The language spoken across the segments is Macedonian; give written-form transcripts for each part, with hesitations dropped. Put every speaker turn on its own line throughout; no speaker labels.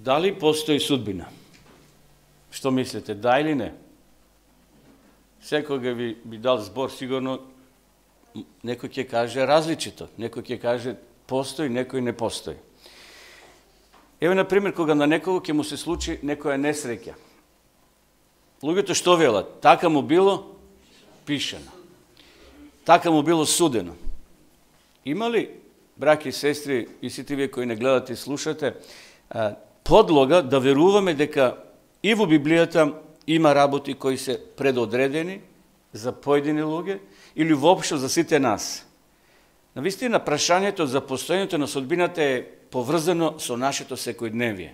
Дали постои судбина? Што мислите, да или не? Секога би дал збор, сигурно некој ќе каже различито, некој ќе каже постои, некој не постои. Ево, например, кога на некого ќе му се случи некоја несреќа. Луѓето што велат? Така му било пишено. Така му било судено. Има ли, браќи и сестри, и сите вие кои не гледате и слушате, подлога да веруваме дека и во Библијата има работи кои се предодредени за поедини луѓе или воопшто за сите нас? Навистина, прашањето за постојањето на судбината е поврзано со нашето секојдневие.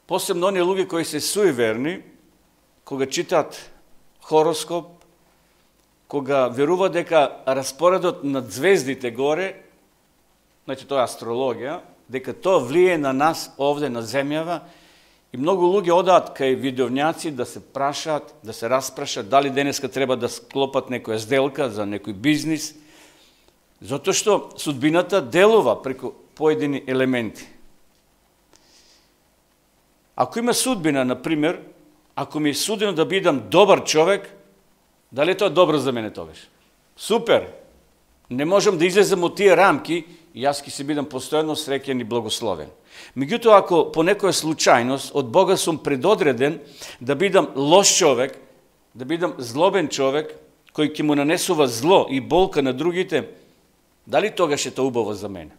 Посебно оние луѓе кои се суеверни, кога читат хороскоп, кога верува дека распоредот на звездите горе, значи тоа е астрологија, дека тоа влие на нас овде на земјава, и многу луѓе одаат кај видовњаци да се прашаат, да се распрашат дали денеска треба да склопат некоја сделка за некој бизнис, затоа што судбината делува преку поедини елементи. Ако има судбина, например, ако ми е судено да бидам добар човек, дали тоа добро за мене тогаш? Супер! Не можам да излезам од тие рамки и јас ќе се бидам постојано среќен и благословен. Меѓутоа, ако по некоја случајност од Бога сум предодреден да бидам лош човек, да бидам злобен човек, кој ќе му нанесува зло и болка на другите, дали тогаш е тоа убаво за мене?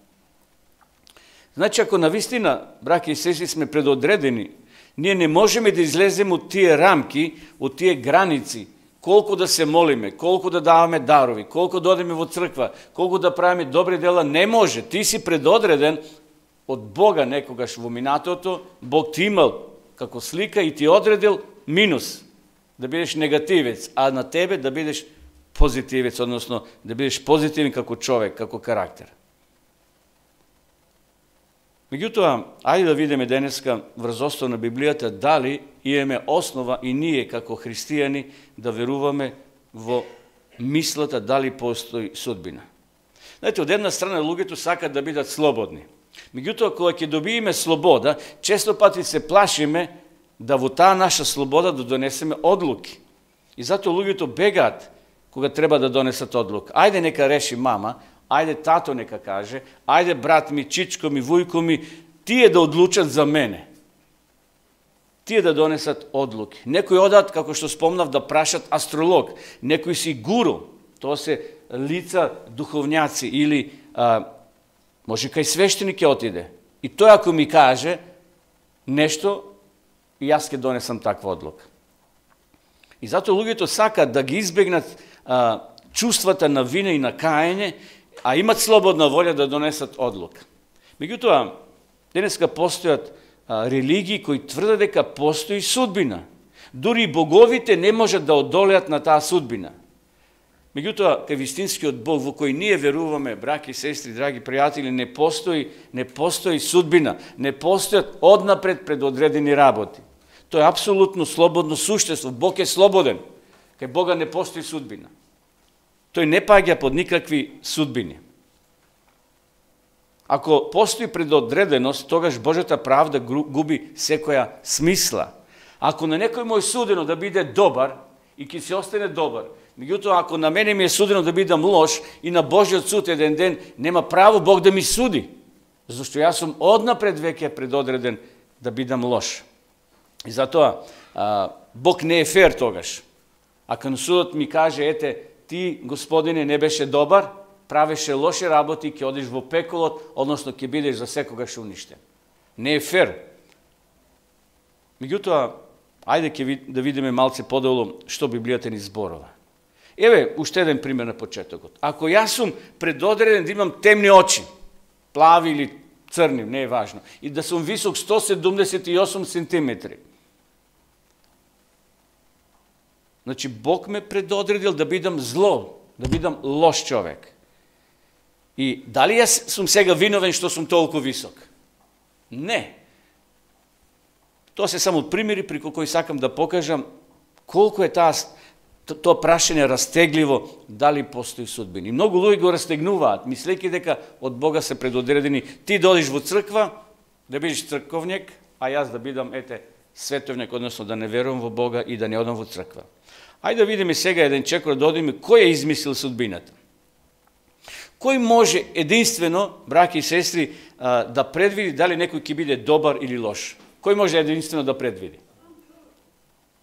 Значи, ако навистина, браќи и сестри, сме предодредени, ние не можеме да излеземе од тие рамки, од тие граници, колку да се молиме, колку да даваме дарови, колку да одиме во црква, колку да правиме добри дела, не може. Ти си предодреден од Бога некогаш во минатото, Бог ти имал како слика и ти одредил минус, да бидеш негативец, а на тебе да бидеш позитивец, односно да бидеш позитивен како човек, како карактер. Меѓутоа, ајде да видиме денеска врз основа на Библијата дали имаме основа и ние како христијани да веруваме во мислата дали постои судбина. Знаете, од една страна луѓето сакат да бидат слободни. Меѓутоа, кога ќе добиеме слобода, често пати се плашиме да во таа наша слобода да донесеме одлуки. И затоа луѓето бегаат кога треба да донесат одлука. Ајде нека реши мама, ајде тато нека каже, ајде брат ми, чичко ми, вујко ми, тие да одлучат за мене. Тие да донесат одлуки. Некои одат, како што спомнав, да прашат астролог, некои си гуру, тоа се лица духовњаци или може кај свештеник ќе отиде. И тој ако ми каже нешто, и јас ќе донесам таква одлука. И затоа луѓето сакат да ги избегнат чувствата на вина и на каење, а имат слободна волја да донесат одлука. Меѓутоа, денеска постојат религии кои тврдат дека постои судбина. Дури и боговите не можат да одолеат на таа судбина. Меѓутоа, кај вистинскиот Бог во кој ние веруваме, браќи, сестри, драги пријатели, не постои судбина, не постојат однапред предодредени работи. Тоа е апсолутно слободно суштество. Бог е слободен. Кај Бога не постои судбина. Тој не паѓа под никакви судбини. Ако постои предодреденост, тогаш Божјата правда губи секоја смисла. Ако на некој му е судено да биде добар и ќе се остане добар, меѓутоа ако на мене ми е судено да бидам лош и на Божјиот суд еден ден, нема право Бог да ми суди, зашто јас сум однапред веќе предодреден да бидам лош. И затоа Бог не е фер тогаш. Ако на судот ми каже, ете, ти, Господине, не беше добар, правеше лоши работи, ќе одиш во пеколот, односно ќе бидеш за секогаш уништен. Не е фер. Меѓутоа, ајде да видиме малце подолу што Библијата ни зборува. Еве, уште еден пример на почетокот. Ако јас сум предодреден да имам темни очи, плави или црни, не е важно, и да сум висок 178 сантиметри, значи, Бог ме предодредил да бидам зло, да бидам лош човек. И дали јас сум сега виновен што сум толку висок? Не. Тоа се само примери преку кои сакам да покажам колку е тоа прашање растегливо, дали постои судбина. И многу луѓе го растегнуваат, мислејќи дека од Бога се предодредени. Ти додиш во црква, Да бидеш црковник, а јас да бидам, световник, односно да не верувам во Бога и да не одам во црква. Ајде да видиме сега еден чекор, да одиме кој е измислил судбината. Кој може единствено, браќи и сестри, да предвиди дали некој ќе биде добар или лош? Кој може единствено да предвиди?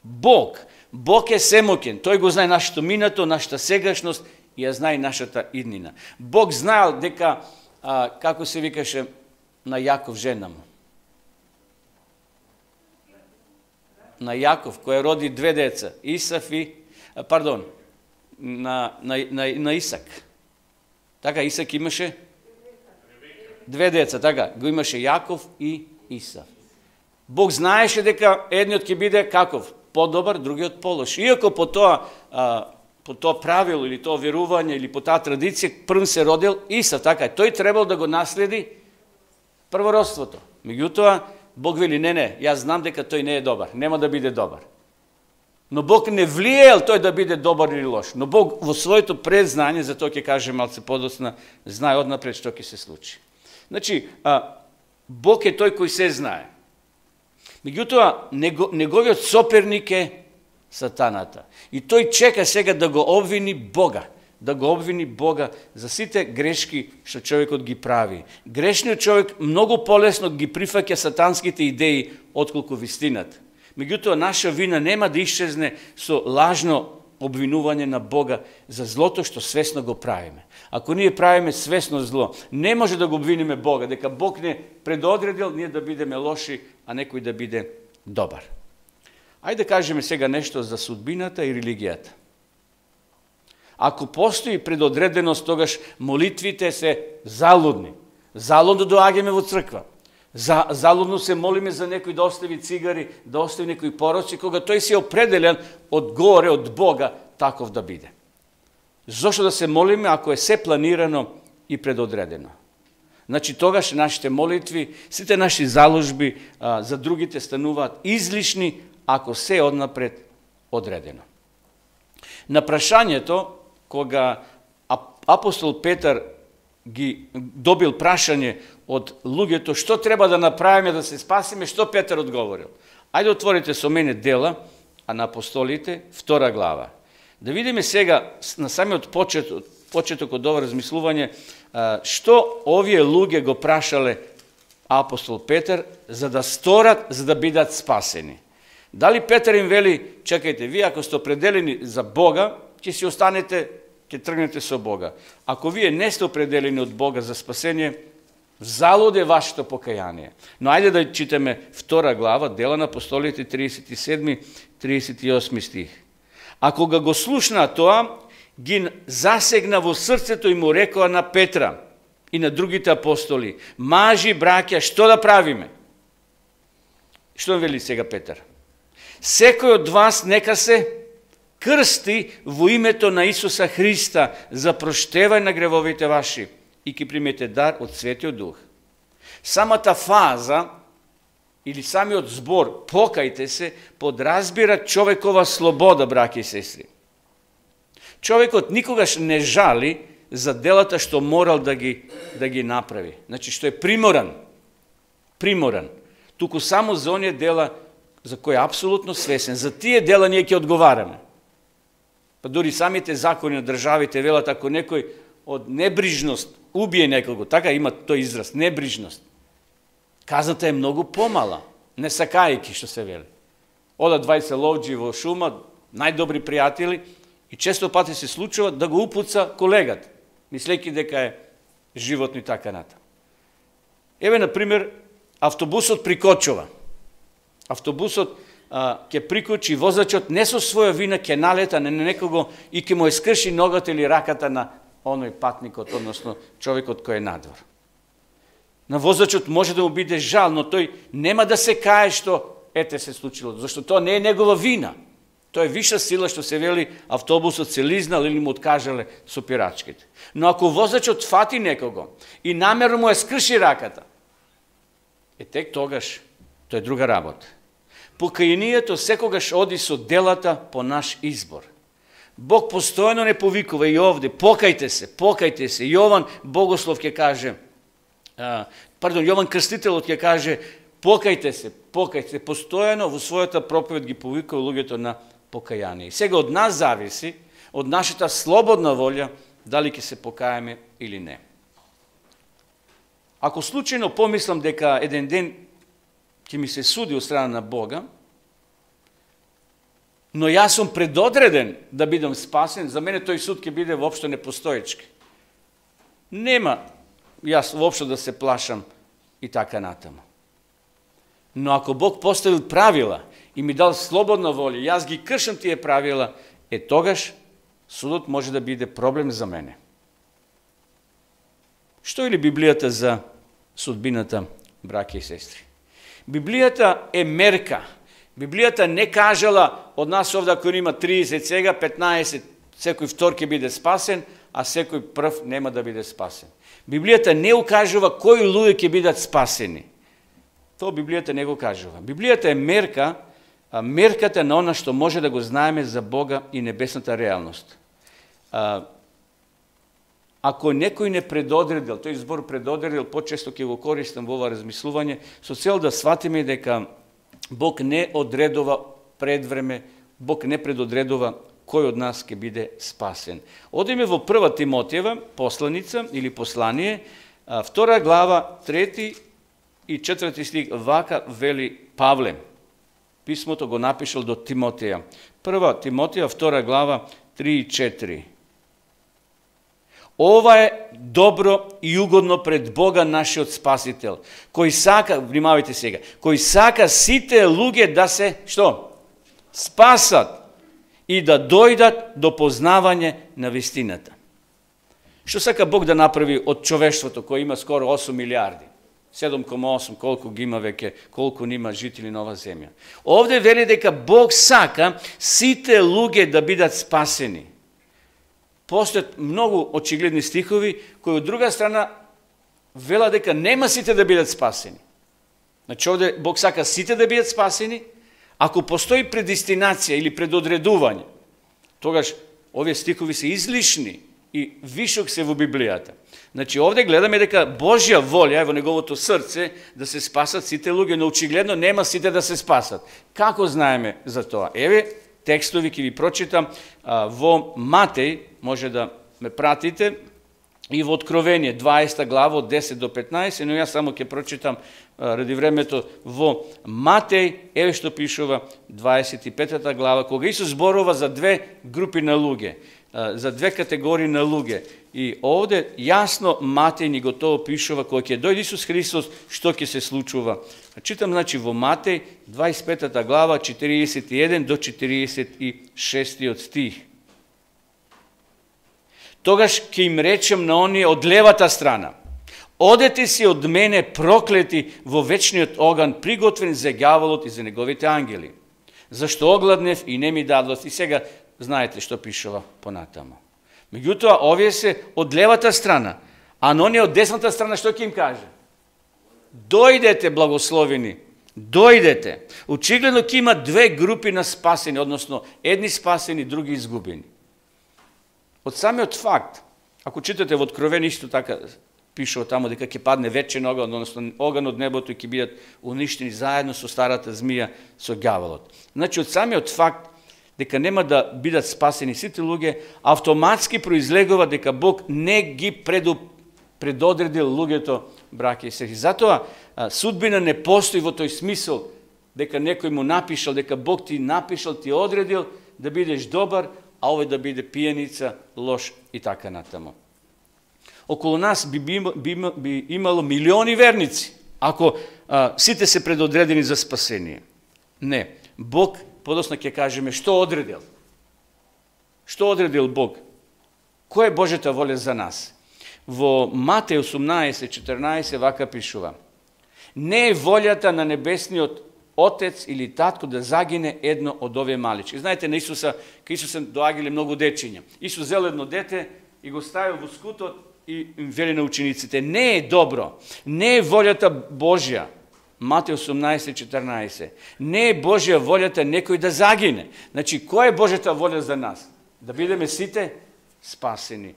Бог. Бог е семоќен. Тој го знае нашето минато, нашата сегашност и ја знае нашата иднина. Бог знаел дека, како се викаше на Јаков жена му. На Јаков, кој роди две деца, Исав и, на Исак. Така, Исак имаше две деца, така, го имаше Јаков и Исав. Бог знаеше дека едниот ќе биде каков? Подобар, другиот полош. Иако по тоа правило или тоа верување или по таа традиција прв се родил Исав, така, тој требал да го наследи првородството. Меѓутоа, Бог вели, не, јас знам дека тој не е добар, нема да биде добар. Но Бог не влиел тој да биде добар или лош. Но Бог во своето предзнање, за тоа ќе каже малце подоцна, знае однапред што ќе се случи. Значи, Бог е тој кој се знае. Меѓутоа, неговиот соперник е сатаната. И тој чека сега да го обвини Бога. Да го обвини Бога за сите грешки што човекот ги прави. Грешниот човек многу полесно ги прифаќа сатанските идеи отколку вистината. Меѓутоа, наша вина нема да исчезне со лажно обвинување на Бога за злото што свесно го правиме. Ако ние правиме свесно зло, не може да го обвиниме Бога, дека Бог не предодредил ние да бидеме лоши, а некој да биде добар. Ајде да кажеме сега нешто за судбината и религијата. Ако постои предодреденост, тогаш молитвите се залудни. Залудно доаѓаме во црква. Залудно се молиме за некој да остави цигари, да остави некој пороци, кога тој се определен од горе, од Бога, таков да биде. Зошто да се молиме ако е се планирано и предодредено? Значи, тогаш нашите молитви, сите наши заложби за другите стануваат излишни, ако се е однапред одредено. На прашањето, кога апостол Петар ги добил прашање од луѓето што треба да направиме да се спасиме, што Петар одговорил? Ајде отворите со мене Дела, а на апостолите, 2 глава. Да видиме сега на самиот почеток од ова размислување што овие луѓе го прашале апостол Петар за да сторат, за да бидат спасени. Дали Петар им вели, чекајте, вие ако сте определени за Бога, ќе си останете, ќе тргнете со Бога. Ако вие не сте определени од Бога за спасение, залуд е вашето покаяние. Но ајде да читаме 2 глава, Дела на апостолите, 37-38 стих. А кога го слушна тоа, ги засегна во срцето и му рекоа на Петра и на другите апостоли: мажи, браќа, што да правиме? Што вели сега Петар? Секој од вас нека се крсти во името на Исуса Христа за проштевање на гревовите ваши и ќе примете дар од Светиот Дух. Самата фаза или самиот збор покајте се подразбира човекова слобода, браќи и сестри. Човекот никогаш не жали за делата што морал да ги направи. Значи што е приморан. Туку само за оние дела за кои е апсолутно свесен. За тие дела ние ќе одговараме. Па дури самите закони на државите велат ако некој од небрижност убие некого, така има тој израз, небрижност. Казната е многу помала, не сакајќи што се вели. Одат 20 ловџи во шума, најдобри пријатели, и често пати се случува да го упуца колегат, мислејќи дека е животно и така натаму. Еве, например, автобусот прикочува. Автобусот ќе прикочи, возачот не со своја вина ќе налета на некого и ќе му е скрши ногата или раката на оној патникот, односно човекот кој е надвор. На возачот може да му биде жал, но тој нема да се кае што се случило, зашто тоа не е негова вина. Тоа е виша сила што се вели автобусот се лизнал или му откажале сопирачките. Но ако возачот фати некого и намерно му е скрши раката, тек тогаш тоа е друга работа. Покајанието секогаш оди со делата по наш избор. Бог постојано не повикува и овде, покајте се. Јован Богослов ќе каже, Јован Крстителот ќе каже, покајте се, постојано во својата проповед ги повикува луѓето на покаяние. И сега од нас зависи, од нашата слободна волја, дали ќе се покаеме или не. Ако случајно помислам дека еден ден ќе ми се суди од страна на Бога, но јас сум предодреден да бидам спасен, за мене тој суд ќе биде воопшто непостоечки. Нема јас воопшто да се плашам и така натаму. Но ако Бог поставил правила и ми дал слободна волја, јас ги кршам тие правила, тогаш судот може да биде проблем за мене. Што или Библијата за судбината, браќа и сестри? Библијата е мерка. Библијата не кажала од нас овде ако има 30 сега, 15, секој втор ќе биде спасен, а секој прв нема да биде спасен. Библијата не укажува кои луѓе ќе бидат спасени. Тоа Библијата не го кажува. Библијата е мерка, мерката на она што може да го знаеме за Бога и небесната реалност. Ако некој не предодредил, тој збор предодредил, почесто ќе го користам во ова размислување, со цел да сватиме дека Бог не одредува предвреме, Бог не предодредува кој од нас ќе биде спасен. Одиме во 1 Тимотиева, посланица или послание, 2 глава, 3 и 4 стих, вака вели Павле. Писмото го напишал до Тимотеја. 1 Тимотија, 2 глава, 3 и 4. Ова е добро и угодно пред Бога нашиот Спасител, кој сака, внимавајте сега, кој сака сите луѓе да се, што? Спасат и да дојдат до познавање на вистината. Што сака Бог да направи од човештвото, кој има скоро 8 милиарди? 7,8, колку ги има веќе, колку нима жители на оваа земја. Овде вели дека Бог сака сите луѓе да бидат спасени. Постојат многу очигледни стихови, кои од друга страна вела дека нема сите да бидат спасени. Значи овде Бог сака сите да бидат спасени, ако постои предестинација или предодредување, тогаш овие стихови се излишни и вишок се во Библијата. Значи овде гледаме дека Божја волја е во неговото срце да се спасат сите луѓе, но очигледно нема сите да се спасат. Како знаеме за тоа? Еве текстови ќе ви прочитам во Матеј, може да ме пратите, и во Откровение 20 глава од 10 до 15, но јас само ќе прочитам ради времето во Матеј, еве што пишува 25 глава, кога Исус зборува за две групи на луѓе, за две категории на луѓе. И овде јасно Матеј ни го тоа пишува, кога ќе дојде Исус Христос, што ќе се случува. Читам, значи, во Матеј 25 глава, 41 до 46 стих. Тогаш ќе им речем на оние од левата страна: одете си од мене проклети во вечниот оган, приготвен за ѓаволот и за неговите ангели. Зашто огладнев и не ми дадост. И сега знаете што пишува понатамо. Меѓутоа, овие се од левата страна, а на оние од десната страна што ќе им каже? Дојдете, благословени, дојдете. Очигледно ќе има две групи на спасени, односно едни спасени, други изгубени. Од самиот факт, ако читате во Откровение, исто така пишува тамо дека ќе падне вечен оган, односно оган од небото и ќе бидат уништени заедно со старата змија, со ѓаволот. Значи, од самиот факт дека нема да бидат спасени сите луѓе, автоматски произлегува дека Бог не ги предодредил луѓето, браќа и сестри. Затоа судбина не постои во тој смисол дека некој му напишал, дека Бог ти напишал, ти одредил да бидеш добар, а овој да биде пијаница, лош и така натаму. Околу нас би имало милиони верници, ако сите се предодредени за спасение. Не, Бог, подоцна ќе кажеме, што одредил? Што одредил Бог? Која е Божјата воля за нас? Во Матеј 18:14 вака пишува: не е волјата на небесниот Отец или татко да загине едно од овие малички. Знаете, на Исуса, кај Исуса доаѓале многу дечиња. Исус зел едно дете и го ставил во скутот и вели на учениците: не е добро, не е волјата Божја. Матеј 18:14. Не е Божја волјата некој да загине. Значи, која е Божјата волја за нас? Да бидеме сите спасени.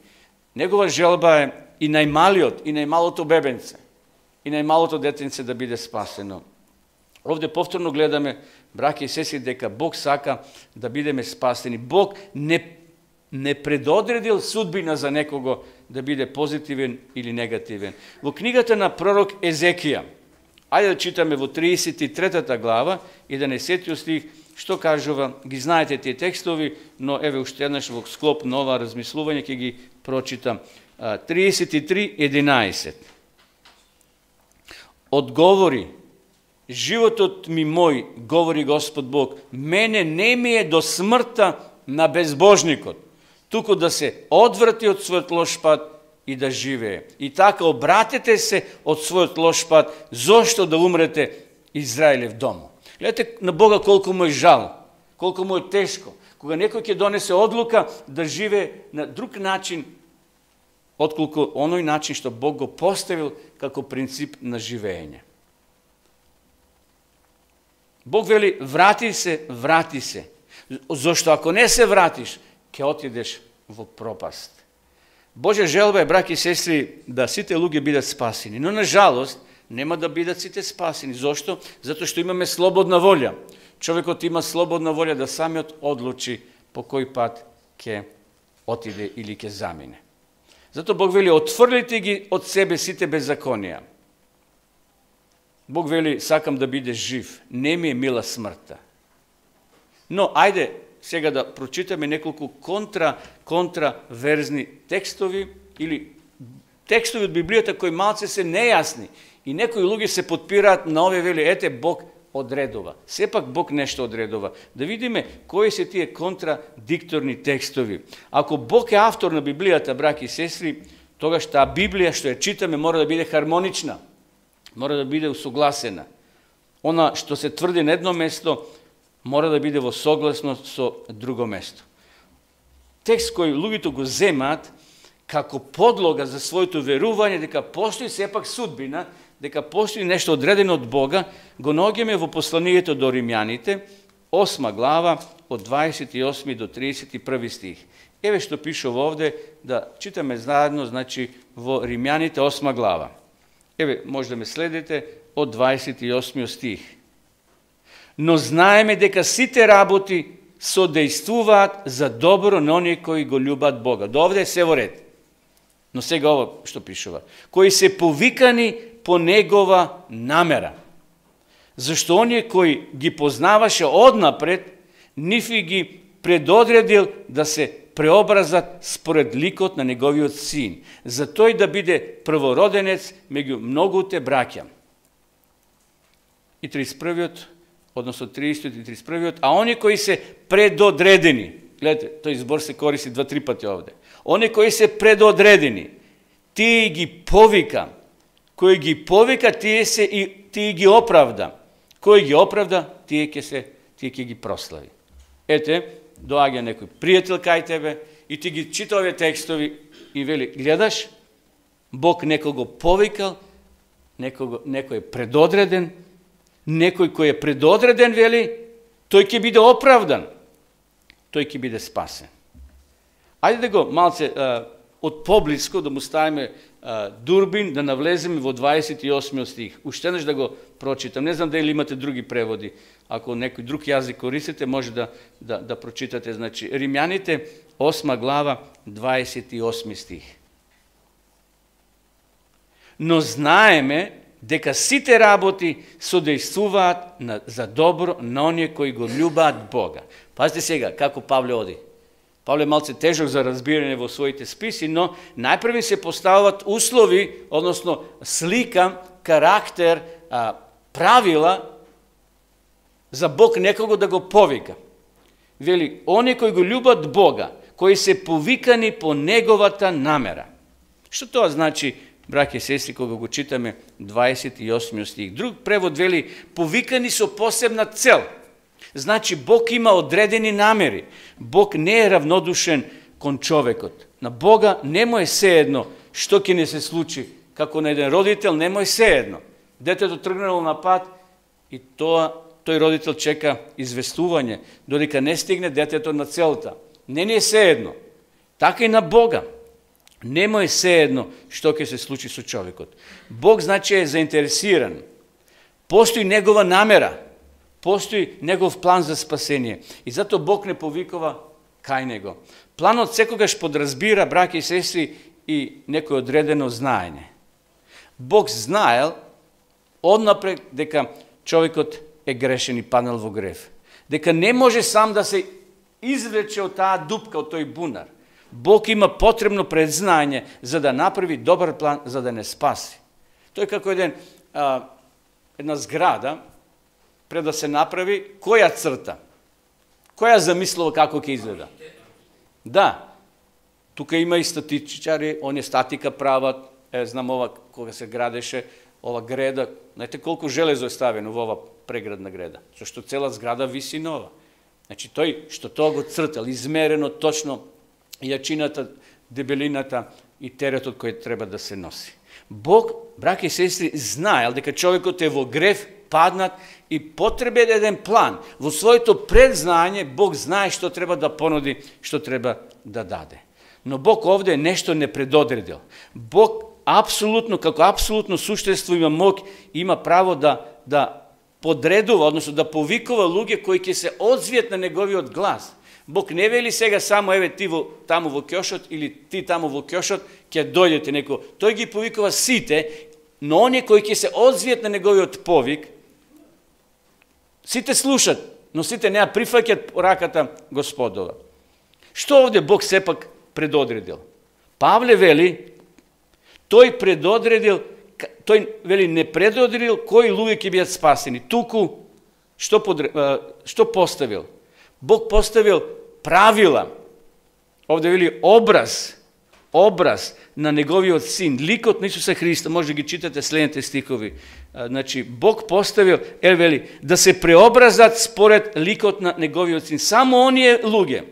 Негова желба е и најмалиот, и најмалото бебенце. и најмалото детенце да биде спасено. Овде повторно гледаме, браќи и сестри, дека Бог сака да бидеме спасени. Бог не предодредил судбина за некого да биде позитивен или негативен. Во книгата на пророк Езекија, ајде да читаме во 33 глава, 11 стих, што кажува, ги знаете тие текстови, но еве уште еднаш во склоп на ова размислување ќе ги прочитам. 33:11. Одговори: животот ми мој, говори Господ Бог, мене не ми е до смртта на безбожникот, туку да се одврати од својот лош пат и да живее. И така обратете се од својот лош пат, зошто да умрете Израилев домо. Гледате на Бога колку му е жал, колку му е тешко, кога некој ќе донесе одлука да живее на друг начин, отколку оној начин што Бог го поставил како принцип на живење. Бог вели, врати се, зашто ако не се вратиш, ќе отидеш во пропаст. Божја желба е, браќи и сестри, да сите луѓе бидат спасени, но на жалост нема да бидат сите спасени. Зошто? Затоа што имаме слободна волја. Човекот има слободна волја да самиот одлучи по кој пат ќе отиде или ќе замине. Затоа Бог вели, отфрлите ги од себе сите беззаконија. Бог вели, сакам да бидеш жив, не ми е мила смртта. Но, ајде, сега да прочитаме неколку контраверзни текстови или текстови од Библијата кои малце се нејасни и некои луѓе се подпираат на овие, вели, ете, Бог одредува. Сепак Бог нешто одредува. Да видиме кои се тие контрадикторни текстови. Ако Бог е автор на Библијата, браќи и сестри, тогаш таа Библија што ја читаме мора да биде хармонична, мора да биде усогласена. Она што се тврди на едно место мора да биде во согласност со друго место. Текст кој луѓето го земаат како подлога за своето верување дека постои сепак судбина, дека постои нешто одредено од Бога, го наоѓаме во посланието до Римјаните, 8 глава, од 28 до 31 стих. Еве што пишува овде, да читаме заедно, значи, во Римјаните 8 глава. Еве, може да ме следите, од 28 стих. Но знаеме дека сите работи содејствуваат за добро на оние кои го љубат Бога. До овде е се во ред. Но сега ово што пишува. Кои се повикани по Негова намера. Зашто оние кои ги познаваше однапред, нив ги предодредил да се преобразат според ликот на Неговиот син, за тој да биде првороденец меѓу многуте браќа. И 31-иот, односно 30 и 31-иот, а они кои се предодредени, гледате, тој збор се користи 2-3 пати овде, они кои се предодредени, тие ги повика, кој ги повика, тие ги оправда, кој ги оправда, тие ќе ги прослави. Ете, доаѓа некој пријател кај тебе и ти ги чита овие текстови и вели, гледаш, Бог некого повикал, некој е предодреден, некој кој е предодреден, вели, тој ќе биде оправдан, тој ќе биде спасен. Ајде да го малце од поблиско, да му ставиме дурбин, да навлеземе во 28 стих. Уште еднаш да го прочитам. Не знам дали имате други преводи. Ако некој друг јазик користите, може да прочитате. Значи, Римјаните, 8 глава, 28 стих. Но знаеме дека сите работи содејствуваат за добро на оние кои го љубаат Бога. Пазите сега, како Павле оди. Павле малце тежок за разбирање во своите списи, но најпрви се поставуваат услови, односно слика, карактер, правила за Бог некого да го повика. Вели, они кои го љубат Бога, кои се повикани по Неговата намера. Што тоа значи, браќи и сестри, кога го читаме 28 стих? Друг превод вели, повикани со посебна цел. Значи, Бог има одредени намери. Бог не е равнодушен кон човекот. На Бога не му е сеедно што ќе не се случи. Како на еден родител не му е сеедно. Детето тргнало на пат и тој родител чека известување, додека не стигне детето на целта. Не ни е сеедно. Така и на Бога. Нема е сеедно што ќе се случи со човекот. Бог значи е заинтересиран. Постои негова намера. Постои негов план за спасение. И зато Бог не повикува кај него. Планот секогаш подразбира, браќи и сестри, и некој одредено знаење. Бог знаел однапред дека човекот е грешен и паднал во грев. Дека не може сам да се извлече од таа дупка, од тој бунар. Бог има потребно предзнање за да направи добар план, за да не спаси. Тој како една зграда, пред да се направи, која црта? Која замислува како ќе изгледа? Да, тука има и статичари, оние статика прават, знам ова, кога се градеше, ова греда, знаете колку железо е ставено во ова преградна греда, зашто цела зграда виси нова. Значи тој што тоа го цртал, измерено точно јачината, дебелината и теретот кој треба да се носи. Бог, браќи и сестри, знаел дека човекот е во грев, паднат и потребен еден план. Во своето предзнање Бог знае што треба да понуди, што треба да даде. Но Бог овде нешто не предодредил. Бог апсолутно, како апсолутно суштество има моќ, има право да подредува, односно да повикува луѓе кои ќе се одзвијат на неговиот глас. Бог не вели сега само еве ти таму во ќошот или ти таму во ќошот ќе дојдете некој. Тој ги повикува сите, но оние кои ќе се одзвијат на неговиот повик, сите слушат, но сите не ја прифаќаат раката Господова. Што овде Бог сепак предодредил? Павле вели, тој вели не предодредил кои луѓе ќе бидат спасени. Туку што поставил? Бог поставил правила. Овде вели образ на неговиот син, ликот на Исуса Христа, може да ги читате следните стихови. Значи, Бог поставил, вели, да се преобразат според ликот на неговиот син. Само оние луѓе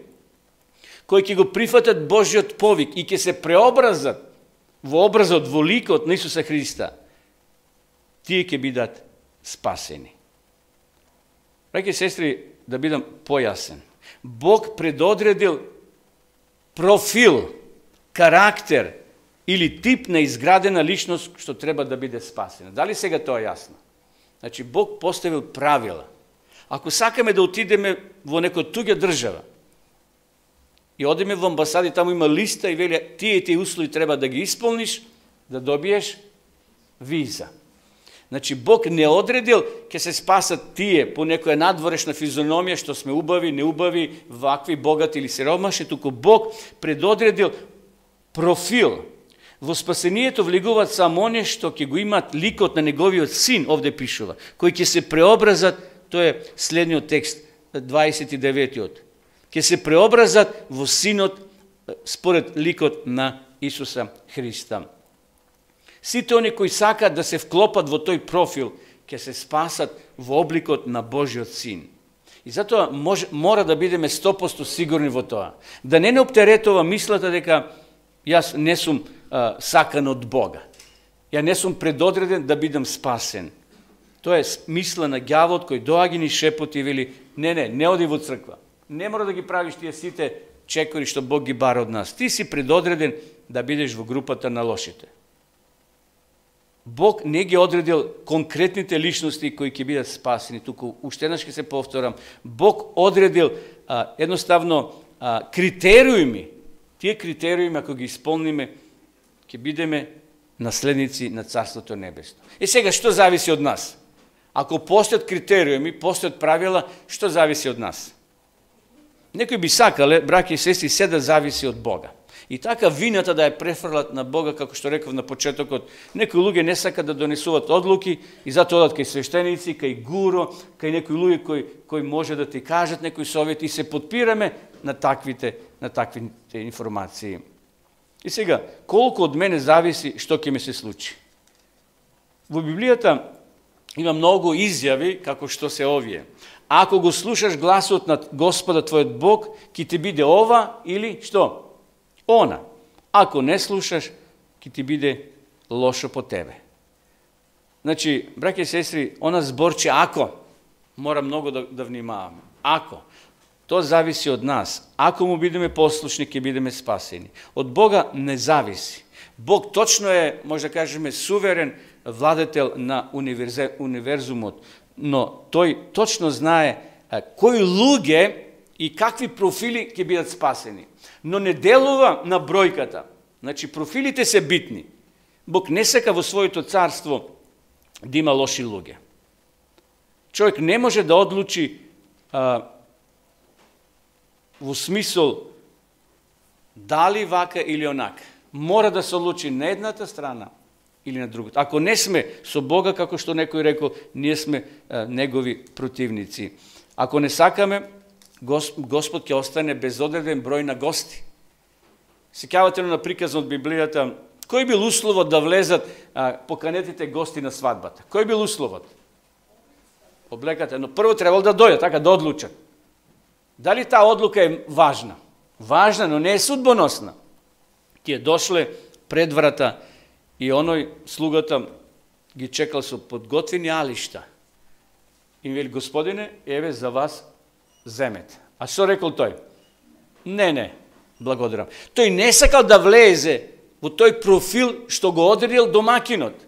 кои ќе го прифатат Божјиот повик и ќе се преобразат во образот, во ликот на Исуса Христа, тие ќе бидат спасени. Браќи и сестри, да бидам појасен. Бог предодредил профил, карактер или тип на изградена личност што треба да биде спасена. Дали сега тоа е јасно? Значи, Бог поставил правила. Ако сакаме да отидеме во некоја туѓа држава и одиме во амбасади, таму има листа и вели тие услови треба да ги исполниш, да добиеш виза. Значи, Бог не одредил ќе се спасат тие по некоја надворешна физиономија, што сме убави, неубави, вакви, богати или сиромашни, туку Бог предодредил профил. Во спасението влегуваат само оние што ќе го имат ликот на неговиот син, овде пишува, кои ќе се преобразат, тоа е следниот текст, 29-тиот. Ќе се преобразат во синот според ликот на Исуса Христа. Сите они кои сакаат да се вклопат во тој профил, ќе се спасат во обликот на Божјиот син. И затоа мора да бидеме 100% сигурни во тоа. Да не оптеретува мислата дека јас не сум сакан од Бога. Ја не сум предодреден да бидам спасен. Тоа е мисла на ѓавот кој доаѓа ни шепоти и вели не оди во црква. Не мора да ги правиш тие сите чекори што Бог ги бара од нас. Ти си предодреден да бидеш во групата на лошите. Бог не ги одредил конкретните личности кои ќе бидат спасени, туку уште еднаш ќе се повторам, Бог одредил едноставно критериуми. Тие критериуми, ако ги исполниме, ќе бидеме наследници на Царството Небесно. И сега, што зависи од нас? Ако постојат критериуми, постојат правила, што зависи од нас? Некои би сакале, браќи и сестри, се да зависи од Бога. И така вината да ја префрлат на Бога, како што реков на почетокот, некои луѓе не сакат да донесуваат одлуки и затоа одат кај свештеници, кај гуро, кај некои луѓе кои може да ти кажат некои совети и се подпираме на таквите информации. И сега, колку од мене зависи што ќе ми се случи? Во Библијата има многу изјави како што се овие. Ако го слушаш гласот на Господа твојот Бог, ќе ти биде ова или што? Она. Ако не слушаш, ќе ти биде лошо по тебе. Значи, браќи и сестри, она зборче ако, мора многу да внимаваме. Ако. тоа зависи од нас. Ако му бидеме послушни, ќе бидеме спасени. Од Бога не зависи. Бог точно е, може да кажеме, суверен владетел на универзумот, но тој точно знае кои луѓе и какви профили ќе бидат спасени. Но не делува на бројката. Значи, профилите се битни. Бог не сака во своето царство да има лоши луѓе. Човек не може да одлучи во смисол дали вака или онака. Мора да се одлучи на едната страна или на другата. Ако не сме со Бога, како што некој рекол, ние сме негови противници. Ако не сакаме, Господ ќе остане без одреден број на гости. Сеќавате на приказот од Библијата, кој бил условот да влезат поканетите гости на свадбата? Кој бил условот? Облеката, но прво требало да дојдат, така да одлучат. Дали таа одлука е важна? Важна, но не е судбоносна. Тие дошле пред врата и оној слугата ги чекал со подготвени алишта. И вели: Господине, еве за вас земете. А што рекол тој? Не, благодарам. Тој не сакал да влезе во тој профил што го одредил домакинот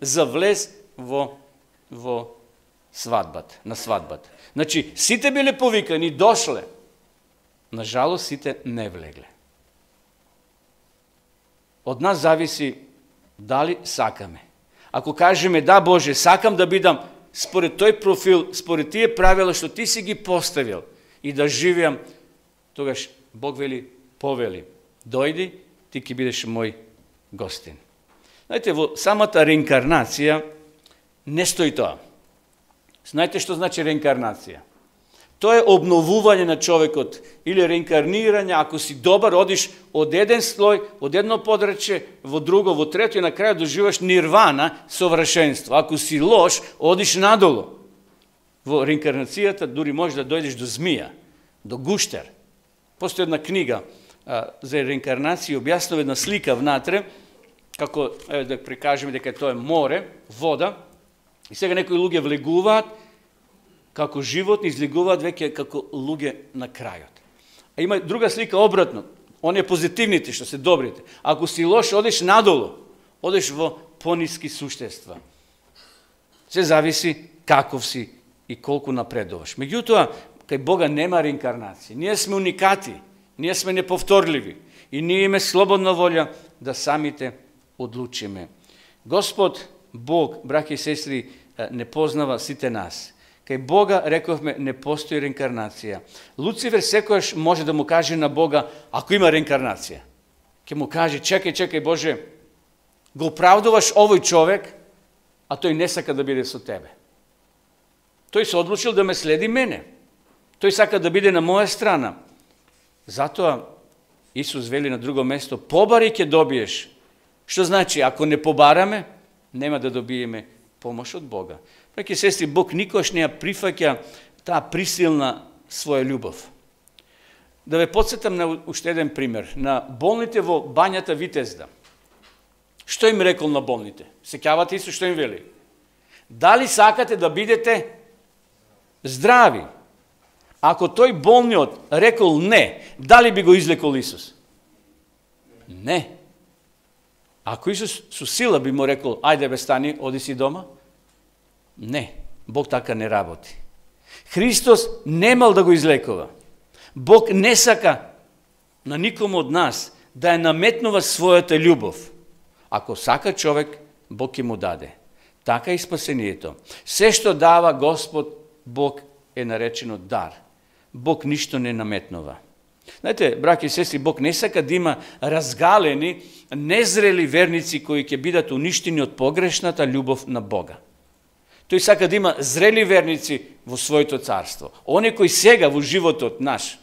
за влез во свадбата, на свадбата. Значи, сите биле повикани, дошле. Нажалост, сите не влегле. Од нас зависи дали сакаме. Ако кажеме: да, Боже, сакам да бидам според тој профил, според тие правила што ти си ги поставил и да живеам, тогаш Бог вели: повели, дојди, ти ќе бидеш мој гостин. Знаете, во самата реинкарнација не стои тоа. Знаете што значи реинкарнација? Тоа е обновување на човекот или реинкарнирање. Ако си добар, одиш од еден слој, од едно подрече во друго, во трето и на крај доживаш нирвана, совршенство. Ако си лош, одиш надолу. Во реинкарнацијата дури може да дојдеш до змија, до гуштер. Постои една книга за реинкарнација, објаснува една слика внатре, како да прикажеме дека тоа е море, вода, и сега некои луѓе влегуваат како животни, излегуваат веќе како луѓе на крајот. А има друга слика обратно. Оние позитивните што се добрите. Ако си лош, одиш надолу, одиш во пониски суштества. Се зависи каков си и колку напредуваш. Меѓутоа, кај Бога нема реинкарнација. Ние сме уникати, ние сме неповторливи и ние имаме слободна волја да самите одлучиме. Господ Бог, браќи и сестри, не познава сите нас. Кај Бога, рековме, не постои реинкарнација. Луцифер секојаш може да му каже на Бога: ако има реинкарнација, ќе му каже: чекај Боже, го оправдуваш овој човек, а тој не сака да биде со тебе. Тој се одлучил да ме следи мене. Тој сака да биде на моја страна. Затоа Исус вели на друго место: побари ќе добиеш. Што значи, ако не побараме, нема да добиеме помош од Бога. Браќи и сестри, Бог никош не ја прифаќа таа присилна своја љубов. Да ве потсетам на уште еден пример. На болните во бањата Витезда. Што им рекол на болните? Сеќавате Исус што им вели? Дали сакате да бидете здрави? Ако тој болниот рекол не, дали би го излекол Исус? Не. Ако Исус со сила би му рекол: ајде бе, стани, оди си дома? Не, Бог така не работи. Христос немал да го излекува. Бог не сака на никому од нас да ја наметнува својата љубов. Ако сака човек, Бог ќе му даде. Така и спасението. Се што дава Господ, Бог е наречено дар. Бог ништо не наметнува. Знаете, браќи и сестри, Бог не сака да има разгалени, незрели верници кои ќе бидат уништени од погрешната љубов на Бога. Тој сака да има зрели верници во своето царство. Они кои сега во животот наш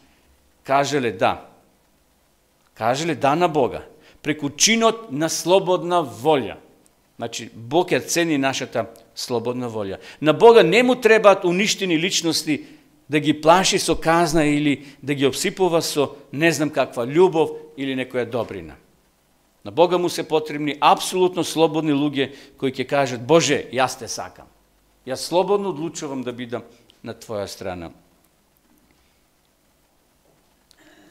кажеле да. Кажеле да на Бога. Преку чинот на слободна волја. Значи, Бог ја цени нашата слободна волја. На Бога не му требаат уништени личности да ги плаши со казна или да ги обсипува со не знам каква љубов или некоја добрина. На Бога му се потребни апсолутно слободни луѓе кои ќе кажат: Боже, јас те сакам. Јас слободно одлучувам да бидам на твоја страна.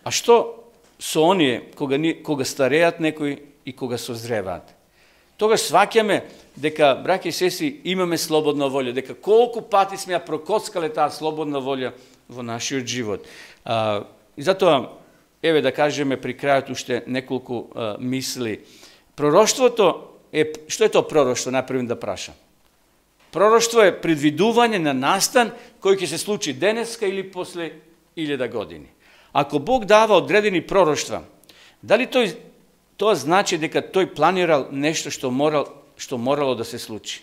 А што со оние кога стареат некои и кога созреваат? Тогаш сваќаме дека, браќи и сестри, имаме слободна волја, дека колку пати сме ја прокоцкале таа слободна волја во нашиот живот. И затоа, еве да кажеме при крајот уште неколку мисли. Пророштвото што е тоа пророштво, најпрво да прашам? Пророштво е предвидување на настан кој ќе се случи денеска или после 1000 години. Ако Бог дава одредени пророштва, дали тоа значи дека тој планирал нешто што морало да се случи?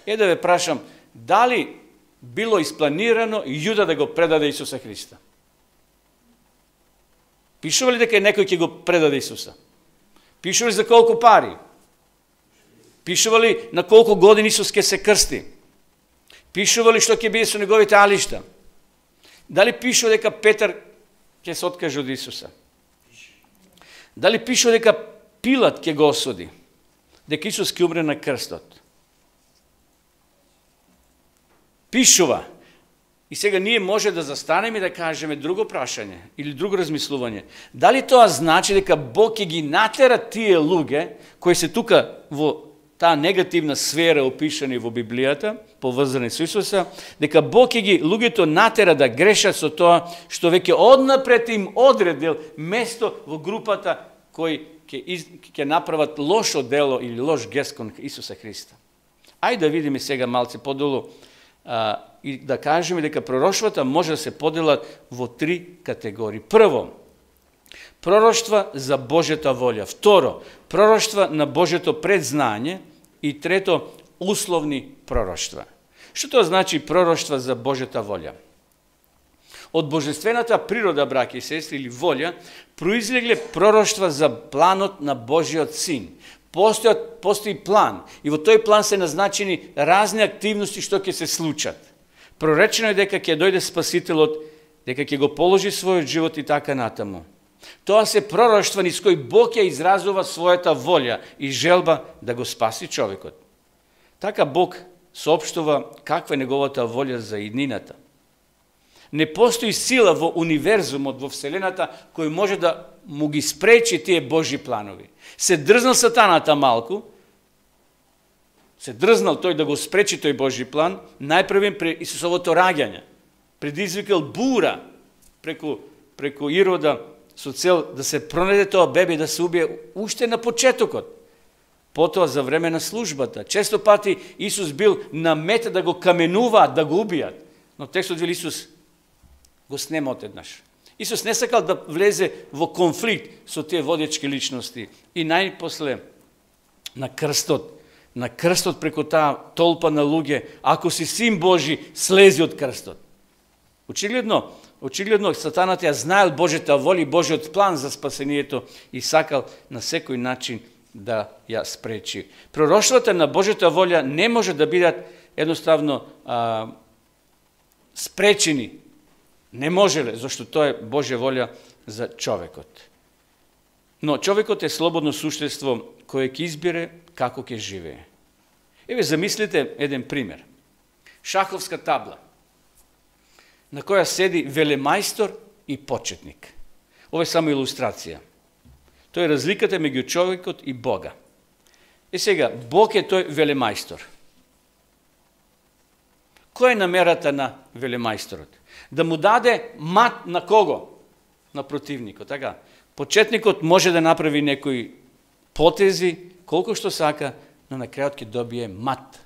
Да ве прашам, дали било испланирано Јуда да го предаде Исуса Христа? Пишува ли дека некој ќе го предаде Исуса? Пишува ли за колку пари? Пишува ли на колку години Исус ќе се крсти? Пишува ли што ќе биде со неговите алишта? Дали пишува дека Петар ќе се откаже од Исуса? Дали пишува дека Пилат ќе го осуди? Дека Исус ќе умре на крстот? Пишува. И сега ние може да застанеме и да кажеме друго прашање или друго размислување. Дали тоа значи дека Бог ќе ги натера тие луѓе кои се тука во таа негативна сфера опишани во Библијата, поврзани со Исуса, дека Бог ќе ги луѓето натера да грешат со тоа што веќе однапред им одредил место во групата кои ќе направат лошо дело или лош гест кон Исуса Христа. Ајде да видиме сега малце подолу и да кажеме дека пророштвата може да се поделат во 3 категории. Прво, пророштва за Божјата волја. Второ, пророштва на Божјото предзнање. И трето, условни пророштва. Што тоа значи пророштва за Божјата волја? Од божествената природа, браќи и сестри, или волја, произлегле пророштва за планот на Божиот Син. Постои план и во тој план се назначени разни активности што ќе се случат. Проречено е дека ќе дојде Спасителот, дека ќе го положи својот живот и така натаму. Тоа се пророштва низ кој Бог ја изразува својата волја и желба да го спаси човекот. Така Бог соопштува каква е неговата волја за иднината. Не постои сила во универзумот, во Вселената, кој може да му ги спречи тие Божи планови. Се дрзнал сатаната малку, се дрзнал тој да го спречи тој Божи план, најпрвен при Исусовото раѓање. Предизвикал бура преку Ирода, со цел да се пронајде тоа бебе и да се убие уште на почетокот. Потоа за време на службата. Често пати Исус бил на мета да го каменуваат, да го убијат. Но текстот вели Исус го снема одеднаш. Исус не сакал да влезе во конфликт со тие водечки личности. И најпосле на крстот преку таа толпа на луѓе, ако си Син Божи, слези од крстот. Очигледно, сатаната ја знаел Божјата воля и Божјиот план за спасението и сакал на секој начин да ја спречи. Пророштвата на Божјата воля не може да бидат едноставно спречени. Не можеле, зашто тоа е Божја воля за човекот. Но човекот е слободно суштество кое ќе избере како ќе живее. Еве замислите еден пример. Шаховска табла на која седи велемајстор и почетник. Ова е само илустрација. Тоа е разликата меѓу човекот и Бога. Сега, Бог е тој велемајстор. Која е намерата на велемајсторот? Да му даде мат на кого? На противникот, така? Почетникот може да направи некои потези, колку што сака, но на крајот ќе добие мат.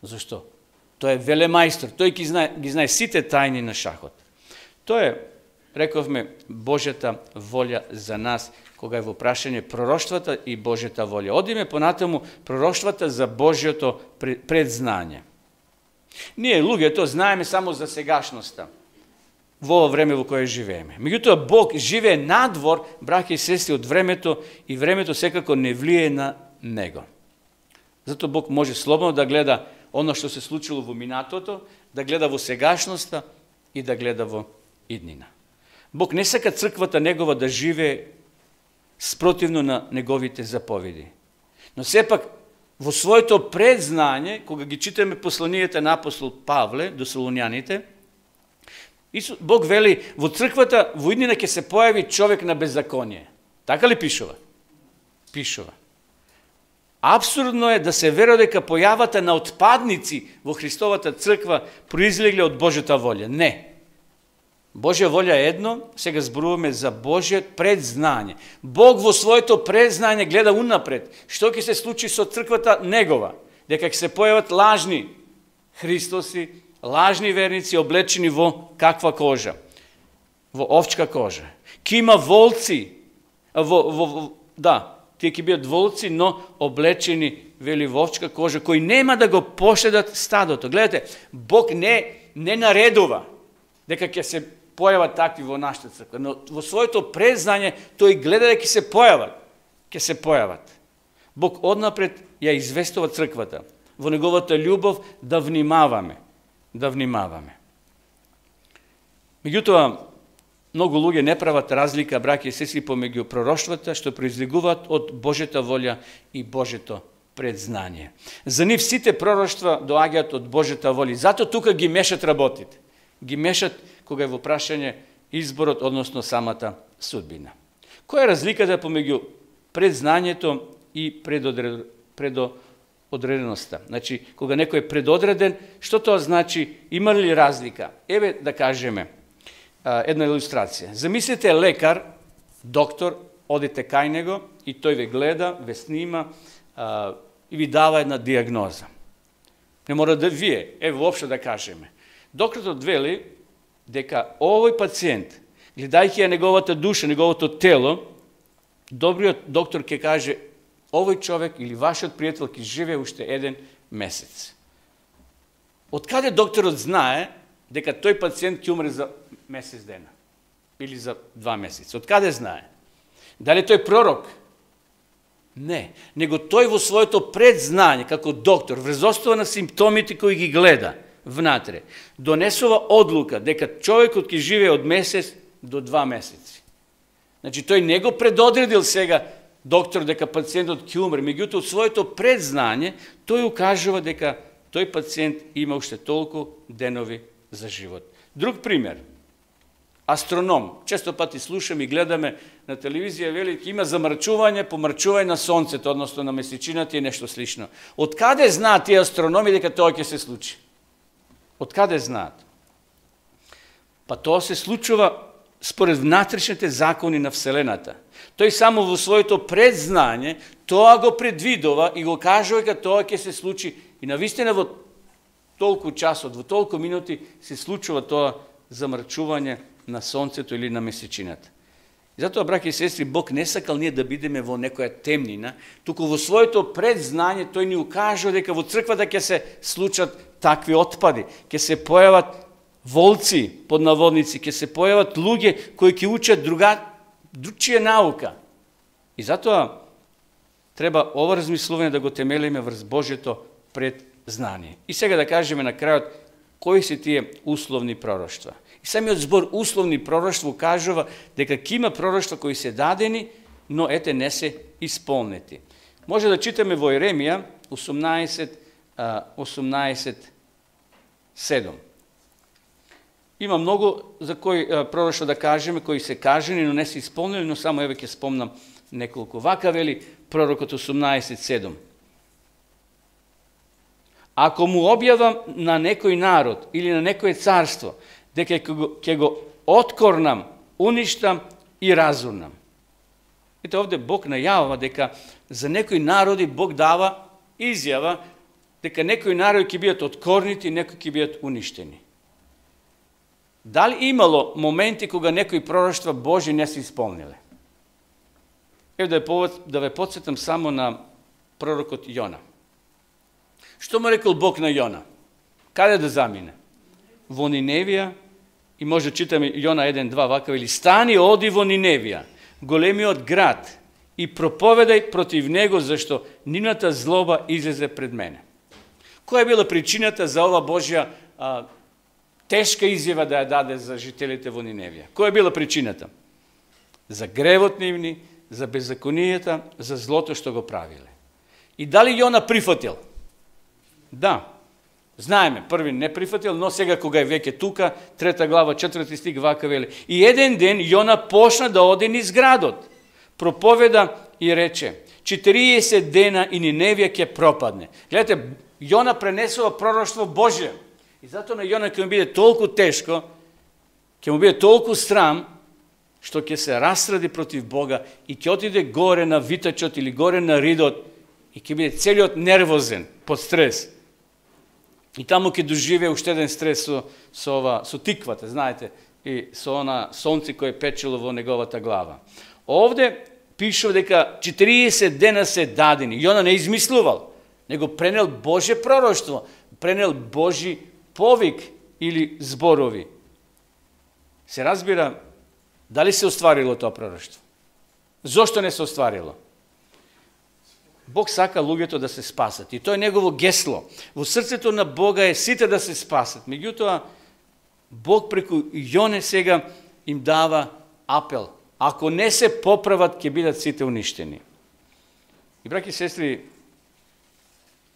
Зошто? Тој е велемајстор, тој ги знае сите тајни на шахот. Тоа е, рековме, Божјата волја за нас, кога е во прашање пророштвата и Божјата волја. Одиме понатаму пророштвата за Божјото предзнање. Ние, луѓето, знаеме само за сегашноста, во ова време во кое живееме. Меѓутоа, Бог живее надвор, браќи и сестри, од времето и времето секако не влие на него. Зато Бог може слободно да гледа оно што се случило во минатото, да гледа во сегашноста и да гледа во иднина. Бог не сака црквата негова да живее спротивно на неговите заповеди. Но сепак, во своето предзнање, кога ги читаме посланијата на апостол Павле до Солуњаните, Бог вели, во црквата во иднина ќе се појави човек на беззаконие. Така ли пишува? Пишува. Абсурдно е да се верува дека појавата на отпадници во Христовата црква произлегле од Божјата волја. Не. Божја волја е едно, сега зборуваме за Божјиот предзнање. Бог во своето предзнање гледа унапред. Што ќе се случи со црквата негова? Дека ќе се појават лажни Христоси, лажни верници облечени во каква кожа? Во овчка кожа. Ке има волци, тие ќе бидат волци, но облечени, вели, во овчка кожа, кои нема да го пошедат стадото. Гледате, Бог не наредува дека ќе се појават такви во нашата црква, но во своето предзнање тој гледа дека ќе се појават. Ќе се појават. Бог однапред ја известува црквата во неговата љубов да внимаваме. Да внимаваме. Меѓутоа, многу луѓе не прават разлика, браќи и сестри, помеѓу пророштвата што произлегуваат од Божјата волја и Божјето предзнание. За нив сите пророштва доаѓаат од Божјата волја. Зато тука ги мешат работите. Ги мешат кога е во прашање изборот, односно самата судбина. Која е разликата помеѓу предзнанието и предодреденоста? Значи, кога некој е предодреден, што тоа значи? Има ли разлика? Еве да кажеме една илустрација. Замислите лекар, доктор, одите кај него и тој ве гледа, ве снима и ви дава една диагноза. Не мора да вие, воопшто да кажеме. Докторот вели дека овој пациент, гледајќи ја неговата душа, неговото тело, добриот доктор ќе каже овој човек или вашиот пријател ќе живее уште 1 месец. Од каде докторот знае дека тој пациент ќе умре за месец дена или за 2 месеца? Од каде знае? Дали тој пророк? Не, него тој во своето предзнање како доктор, врз основа на симптомите кои ги гледа внатре, донесува одлука дека човекот ќе живее од месец до 2 месеци. Значи, тој не го предодредил сега доктор дека пациентот ќе умре, меѓутоа од своето предзнање тој укажува дека тој пациент има уште толку денови за живот. Друг пример. Астроном. Често пати слушаме и гледаме на телевизија, вели, има замрачување, помрачување на сонцето, односно на месечината и нешто слично. Од каде знаат тие астрономи дека тоа ќе се случи? Од каде знаат? Па тоа се случува според внатрешните закони на Вселената. Тој само во своето предзнање тоа го предвидува и го кажува дека тоа ќе се случи. И навистина во толку часот, во толку минути се случува тоа замрачување на сонцето или на месечината. И затоа, браќи и сестри, Бог не сакал ние да бидеме во некоја темнина, туку во своето предзнање тој ни укажува дека во црквата ќе се случат такви отпади, ќе се појават волци, под наводници, ќе се појават луѓе кои ќе учат другчија наука. И затоа треба ова размислување да го темелиме врз Божјето предзнание. И сега да кажеме на крајот кои се тие условни пророштва. И самиот збор условни пророштва укажува дека ќе има пророштва кои се дадени, но ете не се исполнети. Може да читаме во Еремија 18:7. Има многу за кои пророштва да кажеме, кои се кажени, но не се исполнени, но само еве ќе спомнам неколку. Вака вели пророкот 18:7. Ако му објавам на некој народ или на некој царство, дека ќе го откорнам, уништам и разурнам. Ете овде Бог најавува дека за некои народи Бог дава изјава дека некои народи ќе бидат откорнити, некои ќе бидат уништени. Дали имало моменти кога некои пророштва Божи не се исполниле? Еве да ве потсетам само на пророкот Јона. Што му рекол Бог на Јона? Каде да замине? Во Ниневија, и може да читаме Јона 1:2, вака вели: стани, оди во Ниневија, големиот град, и проповедај против него, зашто нивната злоба излезе пред мене. Која е била причината за ова Божја тешка изјава да ја даде за жителите во Ниневија? Која е била причината? За гревот нивни, за беззаконијата, за злото што го правиле. И дали Јона прифатил? Да. Знаеме, први не прифатил, но сега кога е веќе тука, 3 глава, 4 стих, вака вели. И еден ден Јона почна да оди низ градот. Проповеда и рече, 40 дена и Ниневија ќе пропадне. Гледате, Јона пренесува пророштво Божие. И затоа на Јона ќе му биде толку тешко, ќе му биде толку срам, што ќе се расради против Бога и ќе отиде горе на витачот или горе на ридот и ќе биде целиот нервозен, под стрес. И таму ќе доживее уште еден стрес со тиквата, знаете, и со она сонце кој печело во неговата глава. Овде пишува дека 40 дена се дадени. Јона не измислувал, него пренел Божje пророштво, пренел Божи повик или зборови. Се разбира, дали се остварило тоа пророштво? Зошто не се остварило? Бог сака луѓето да се спасат. И тоа е негово гесло. Во срцето на Бога е сите да се спасат. Меѓутоа, Бог преку Јоне сега им дава апел. Ако не се поправат, ќе бидат сите уништени. И браќи и сестри,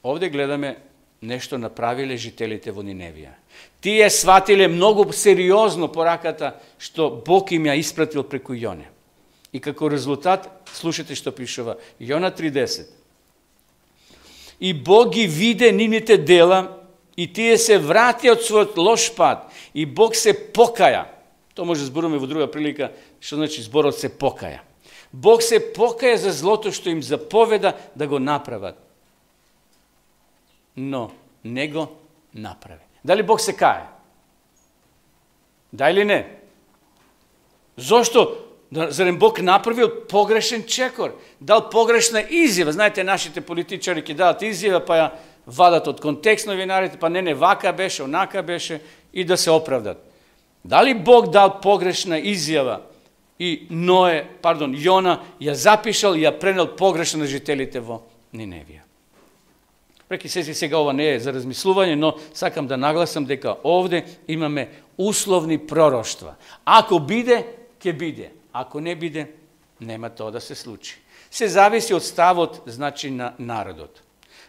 овде гледаме нешто направиле жителите во Ниневија. Тие сватиле многу сериозно пораката што Бог им ја испратил преку Јоне. И како резултат, слушате што пишува Јона 3:10. И Бог ги виде нивните дела и тие се врати од својот лош пат и Бог се покаја. Тоа може да зборуваме во друга прилика, што значи зборот се покаја. Бог се покаја за злото што им заповеда да го направат. Но не го направи. Дали Бог се кае? Да или не? Зошто? Зарем Бог направил погрешен чекор, дал погрешна изјава. Знаете, нашите политичари ќе дадат изјава, па ја вадат од контекст новинарите, па не вака беше, онака беше, и да се оправдат. Дали Бог дал погрешна изјава и Јона ја запишал и ја пренел погрешно на жителите во Ниневија? Преки сега ова не е за размислување, но сакам да нагласам дека овде имаме условни пророштва. Ако биде, ќе биде. Ако не биде, нема тоа да се случи. Се зависи од ставот, значи, на народот.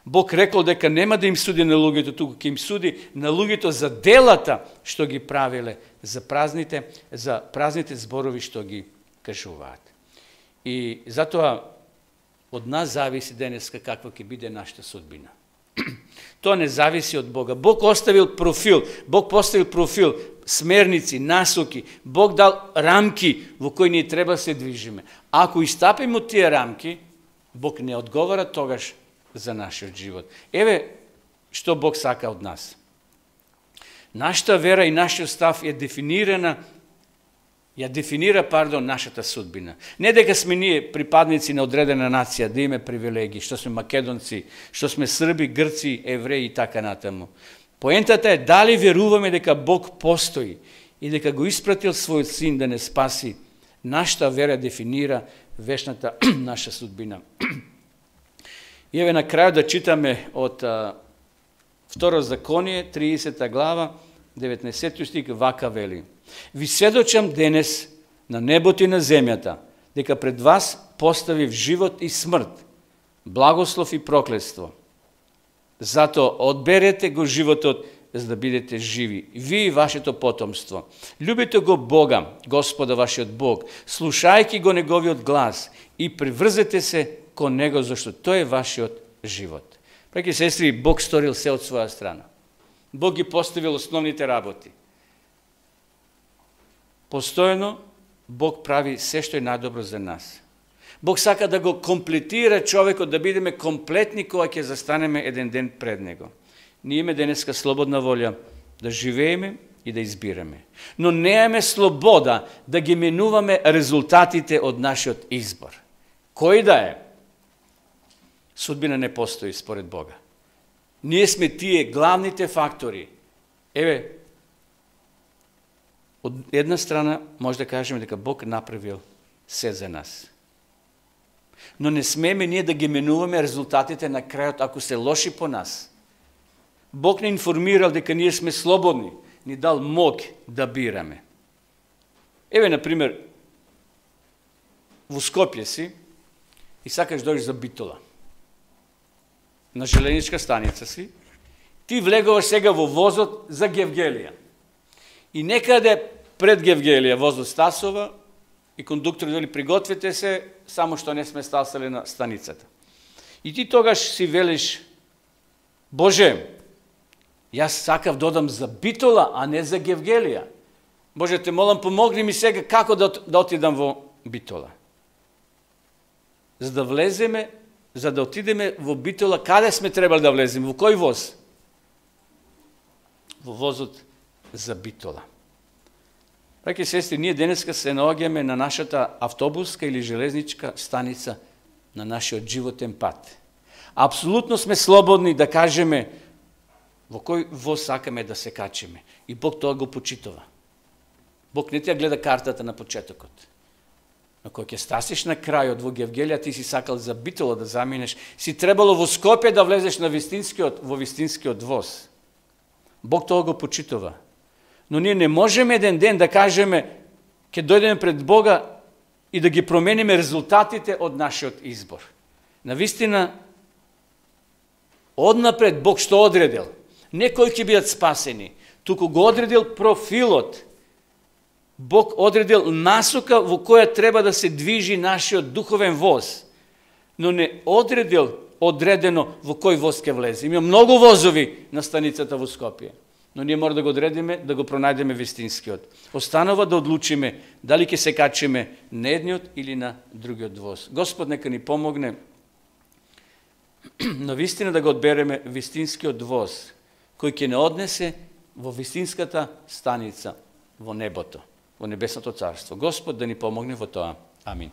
Бог рекол дека нема да им суди на луѓето, туку ќе им суди на луѓето за делата што ги правиле, за празните зборови што ги кажуваат. И затоа од нас зависи денеска каква ќе биде нашата судбина. Тоа не зависи од Бога. Бог поставил профил, смерници, насоки. Бог дал рамки во кои ние треба се движиме. Ако истапиме од тие рамки, Бог не одговара тогаш за нашиот живот. Еве што Бог сака од нас. Нашата вера и нашиот став ја дефинира нашата судбина. Не дека сме ние припадници на одредена нација, да имаме привилегии, што сме македонци, што сме срби, грци, евреи и така натаму. Поентата е дали веруваме дека Бог постои и дека го испратил својот син да не спаси. Нашата вера дефинира вечната наша судбина. И еве на крајот да читаме од Второ Законие, 30 глава, 19 стих, вака вели. Ви сведочам денес на небото и на земјата, дека пред вас поставив живот и смрт, благослов и проклетство. Зато одберете го животот, за да бидете живи, ви и вашето потомство. Любите го Бога, Господа вашиот Бог, слушајќи го Неговиот глас и приврзете се кон Него, зашто тој е вашиот живот. Браќи и сестри, Бог сторил се од своја страна. Бог ги поставил основните работи. Постојано Бог прави се што е најдобро за нас. Бог сака да го комплетира човекот, да бидеме комплетни кога ќе застанеме еден ден пред Него. Ние имаме денеска слободна волја да живееме и да избираме. Но немаме слобода да ги менуваме резултатите од нашиот избор. Кој да е? Судбина не постои според Бога. Ние сме тие главните фактори. Еве, од една страна може да кажеме дека Бог направил се за нас. Но не смееме ние да ги менуваме резултатите на крајот ако се лоши по нас. Бог не информирал дека ние сме слободни, ни дал мог да бираме. Еве, например, во Скопје си и сакаш дојдеш за Битола. На железничка станица си, Ти влегуваш сега во возот за Гевгелија. И некаде пред Гевгелија возот стасува и кондукторот вели пригответе се, само што не сме стасали на станицата. И ти тогаш си велиш, Боже, јас сакав додам за Битола, а не за Гевгелија. Боже, те молам, помогни ми сега како да отидам во Битола. За да влеземе, за да отидеме во Битола, каде сме требали да влеземе? Во кој воз? Во возот за Битола. Браќи и сестри, ние денеска се наоѓаме на нашата автобуска или железничка станица на нашиот животен пат. Апсолутно сме слободни да кажеме во кој воз сакаме да се качиме. И Бог тоа го почитува. Бог не ти ја гледа картата на почетокот. Но кога ќе стасиш на крајот во Гевгелија, ти си сакал за Битола да заминеш, си требало во Скопје да влезеш во вистинскиот воз. Бог тоа го почитува. Но ние не можеме еден ден да кажеме ќе дојдеме пред Бога и да ги промениме резултатите од нашиот избор. Навистина, однапред Бог што одредил? Не кои ќе бидат спасени, туку го одредил профилот. Бог одредил насока во која треба да се движи нашиот духовен воз, но не одредил одредено во кој воз ќе влезе. Има многу возови на станицата во Скопје, но ние мора да го одредиме, да го пронајдеме вистинскиот. Останува да одлучиме дали ќе се качиме на едниот или на другиот воз. Господ нека ни помогне на вистина да го одбереме вистинскиот воз, кој ќе не однесе во вистинската станица во небото, во небесното царство. Господ да ни помогне во тоа. Амин.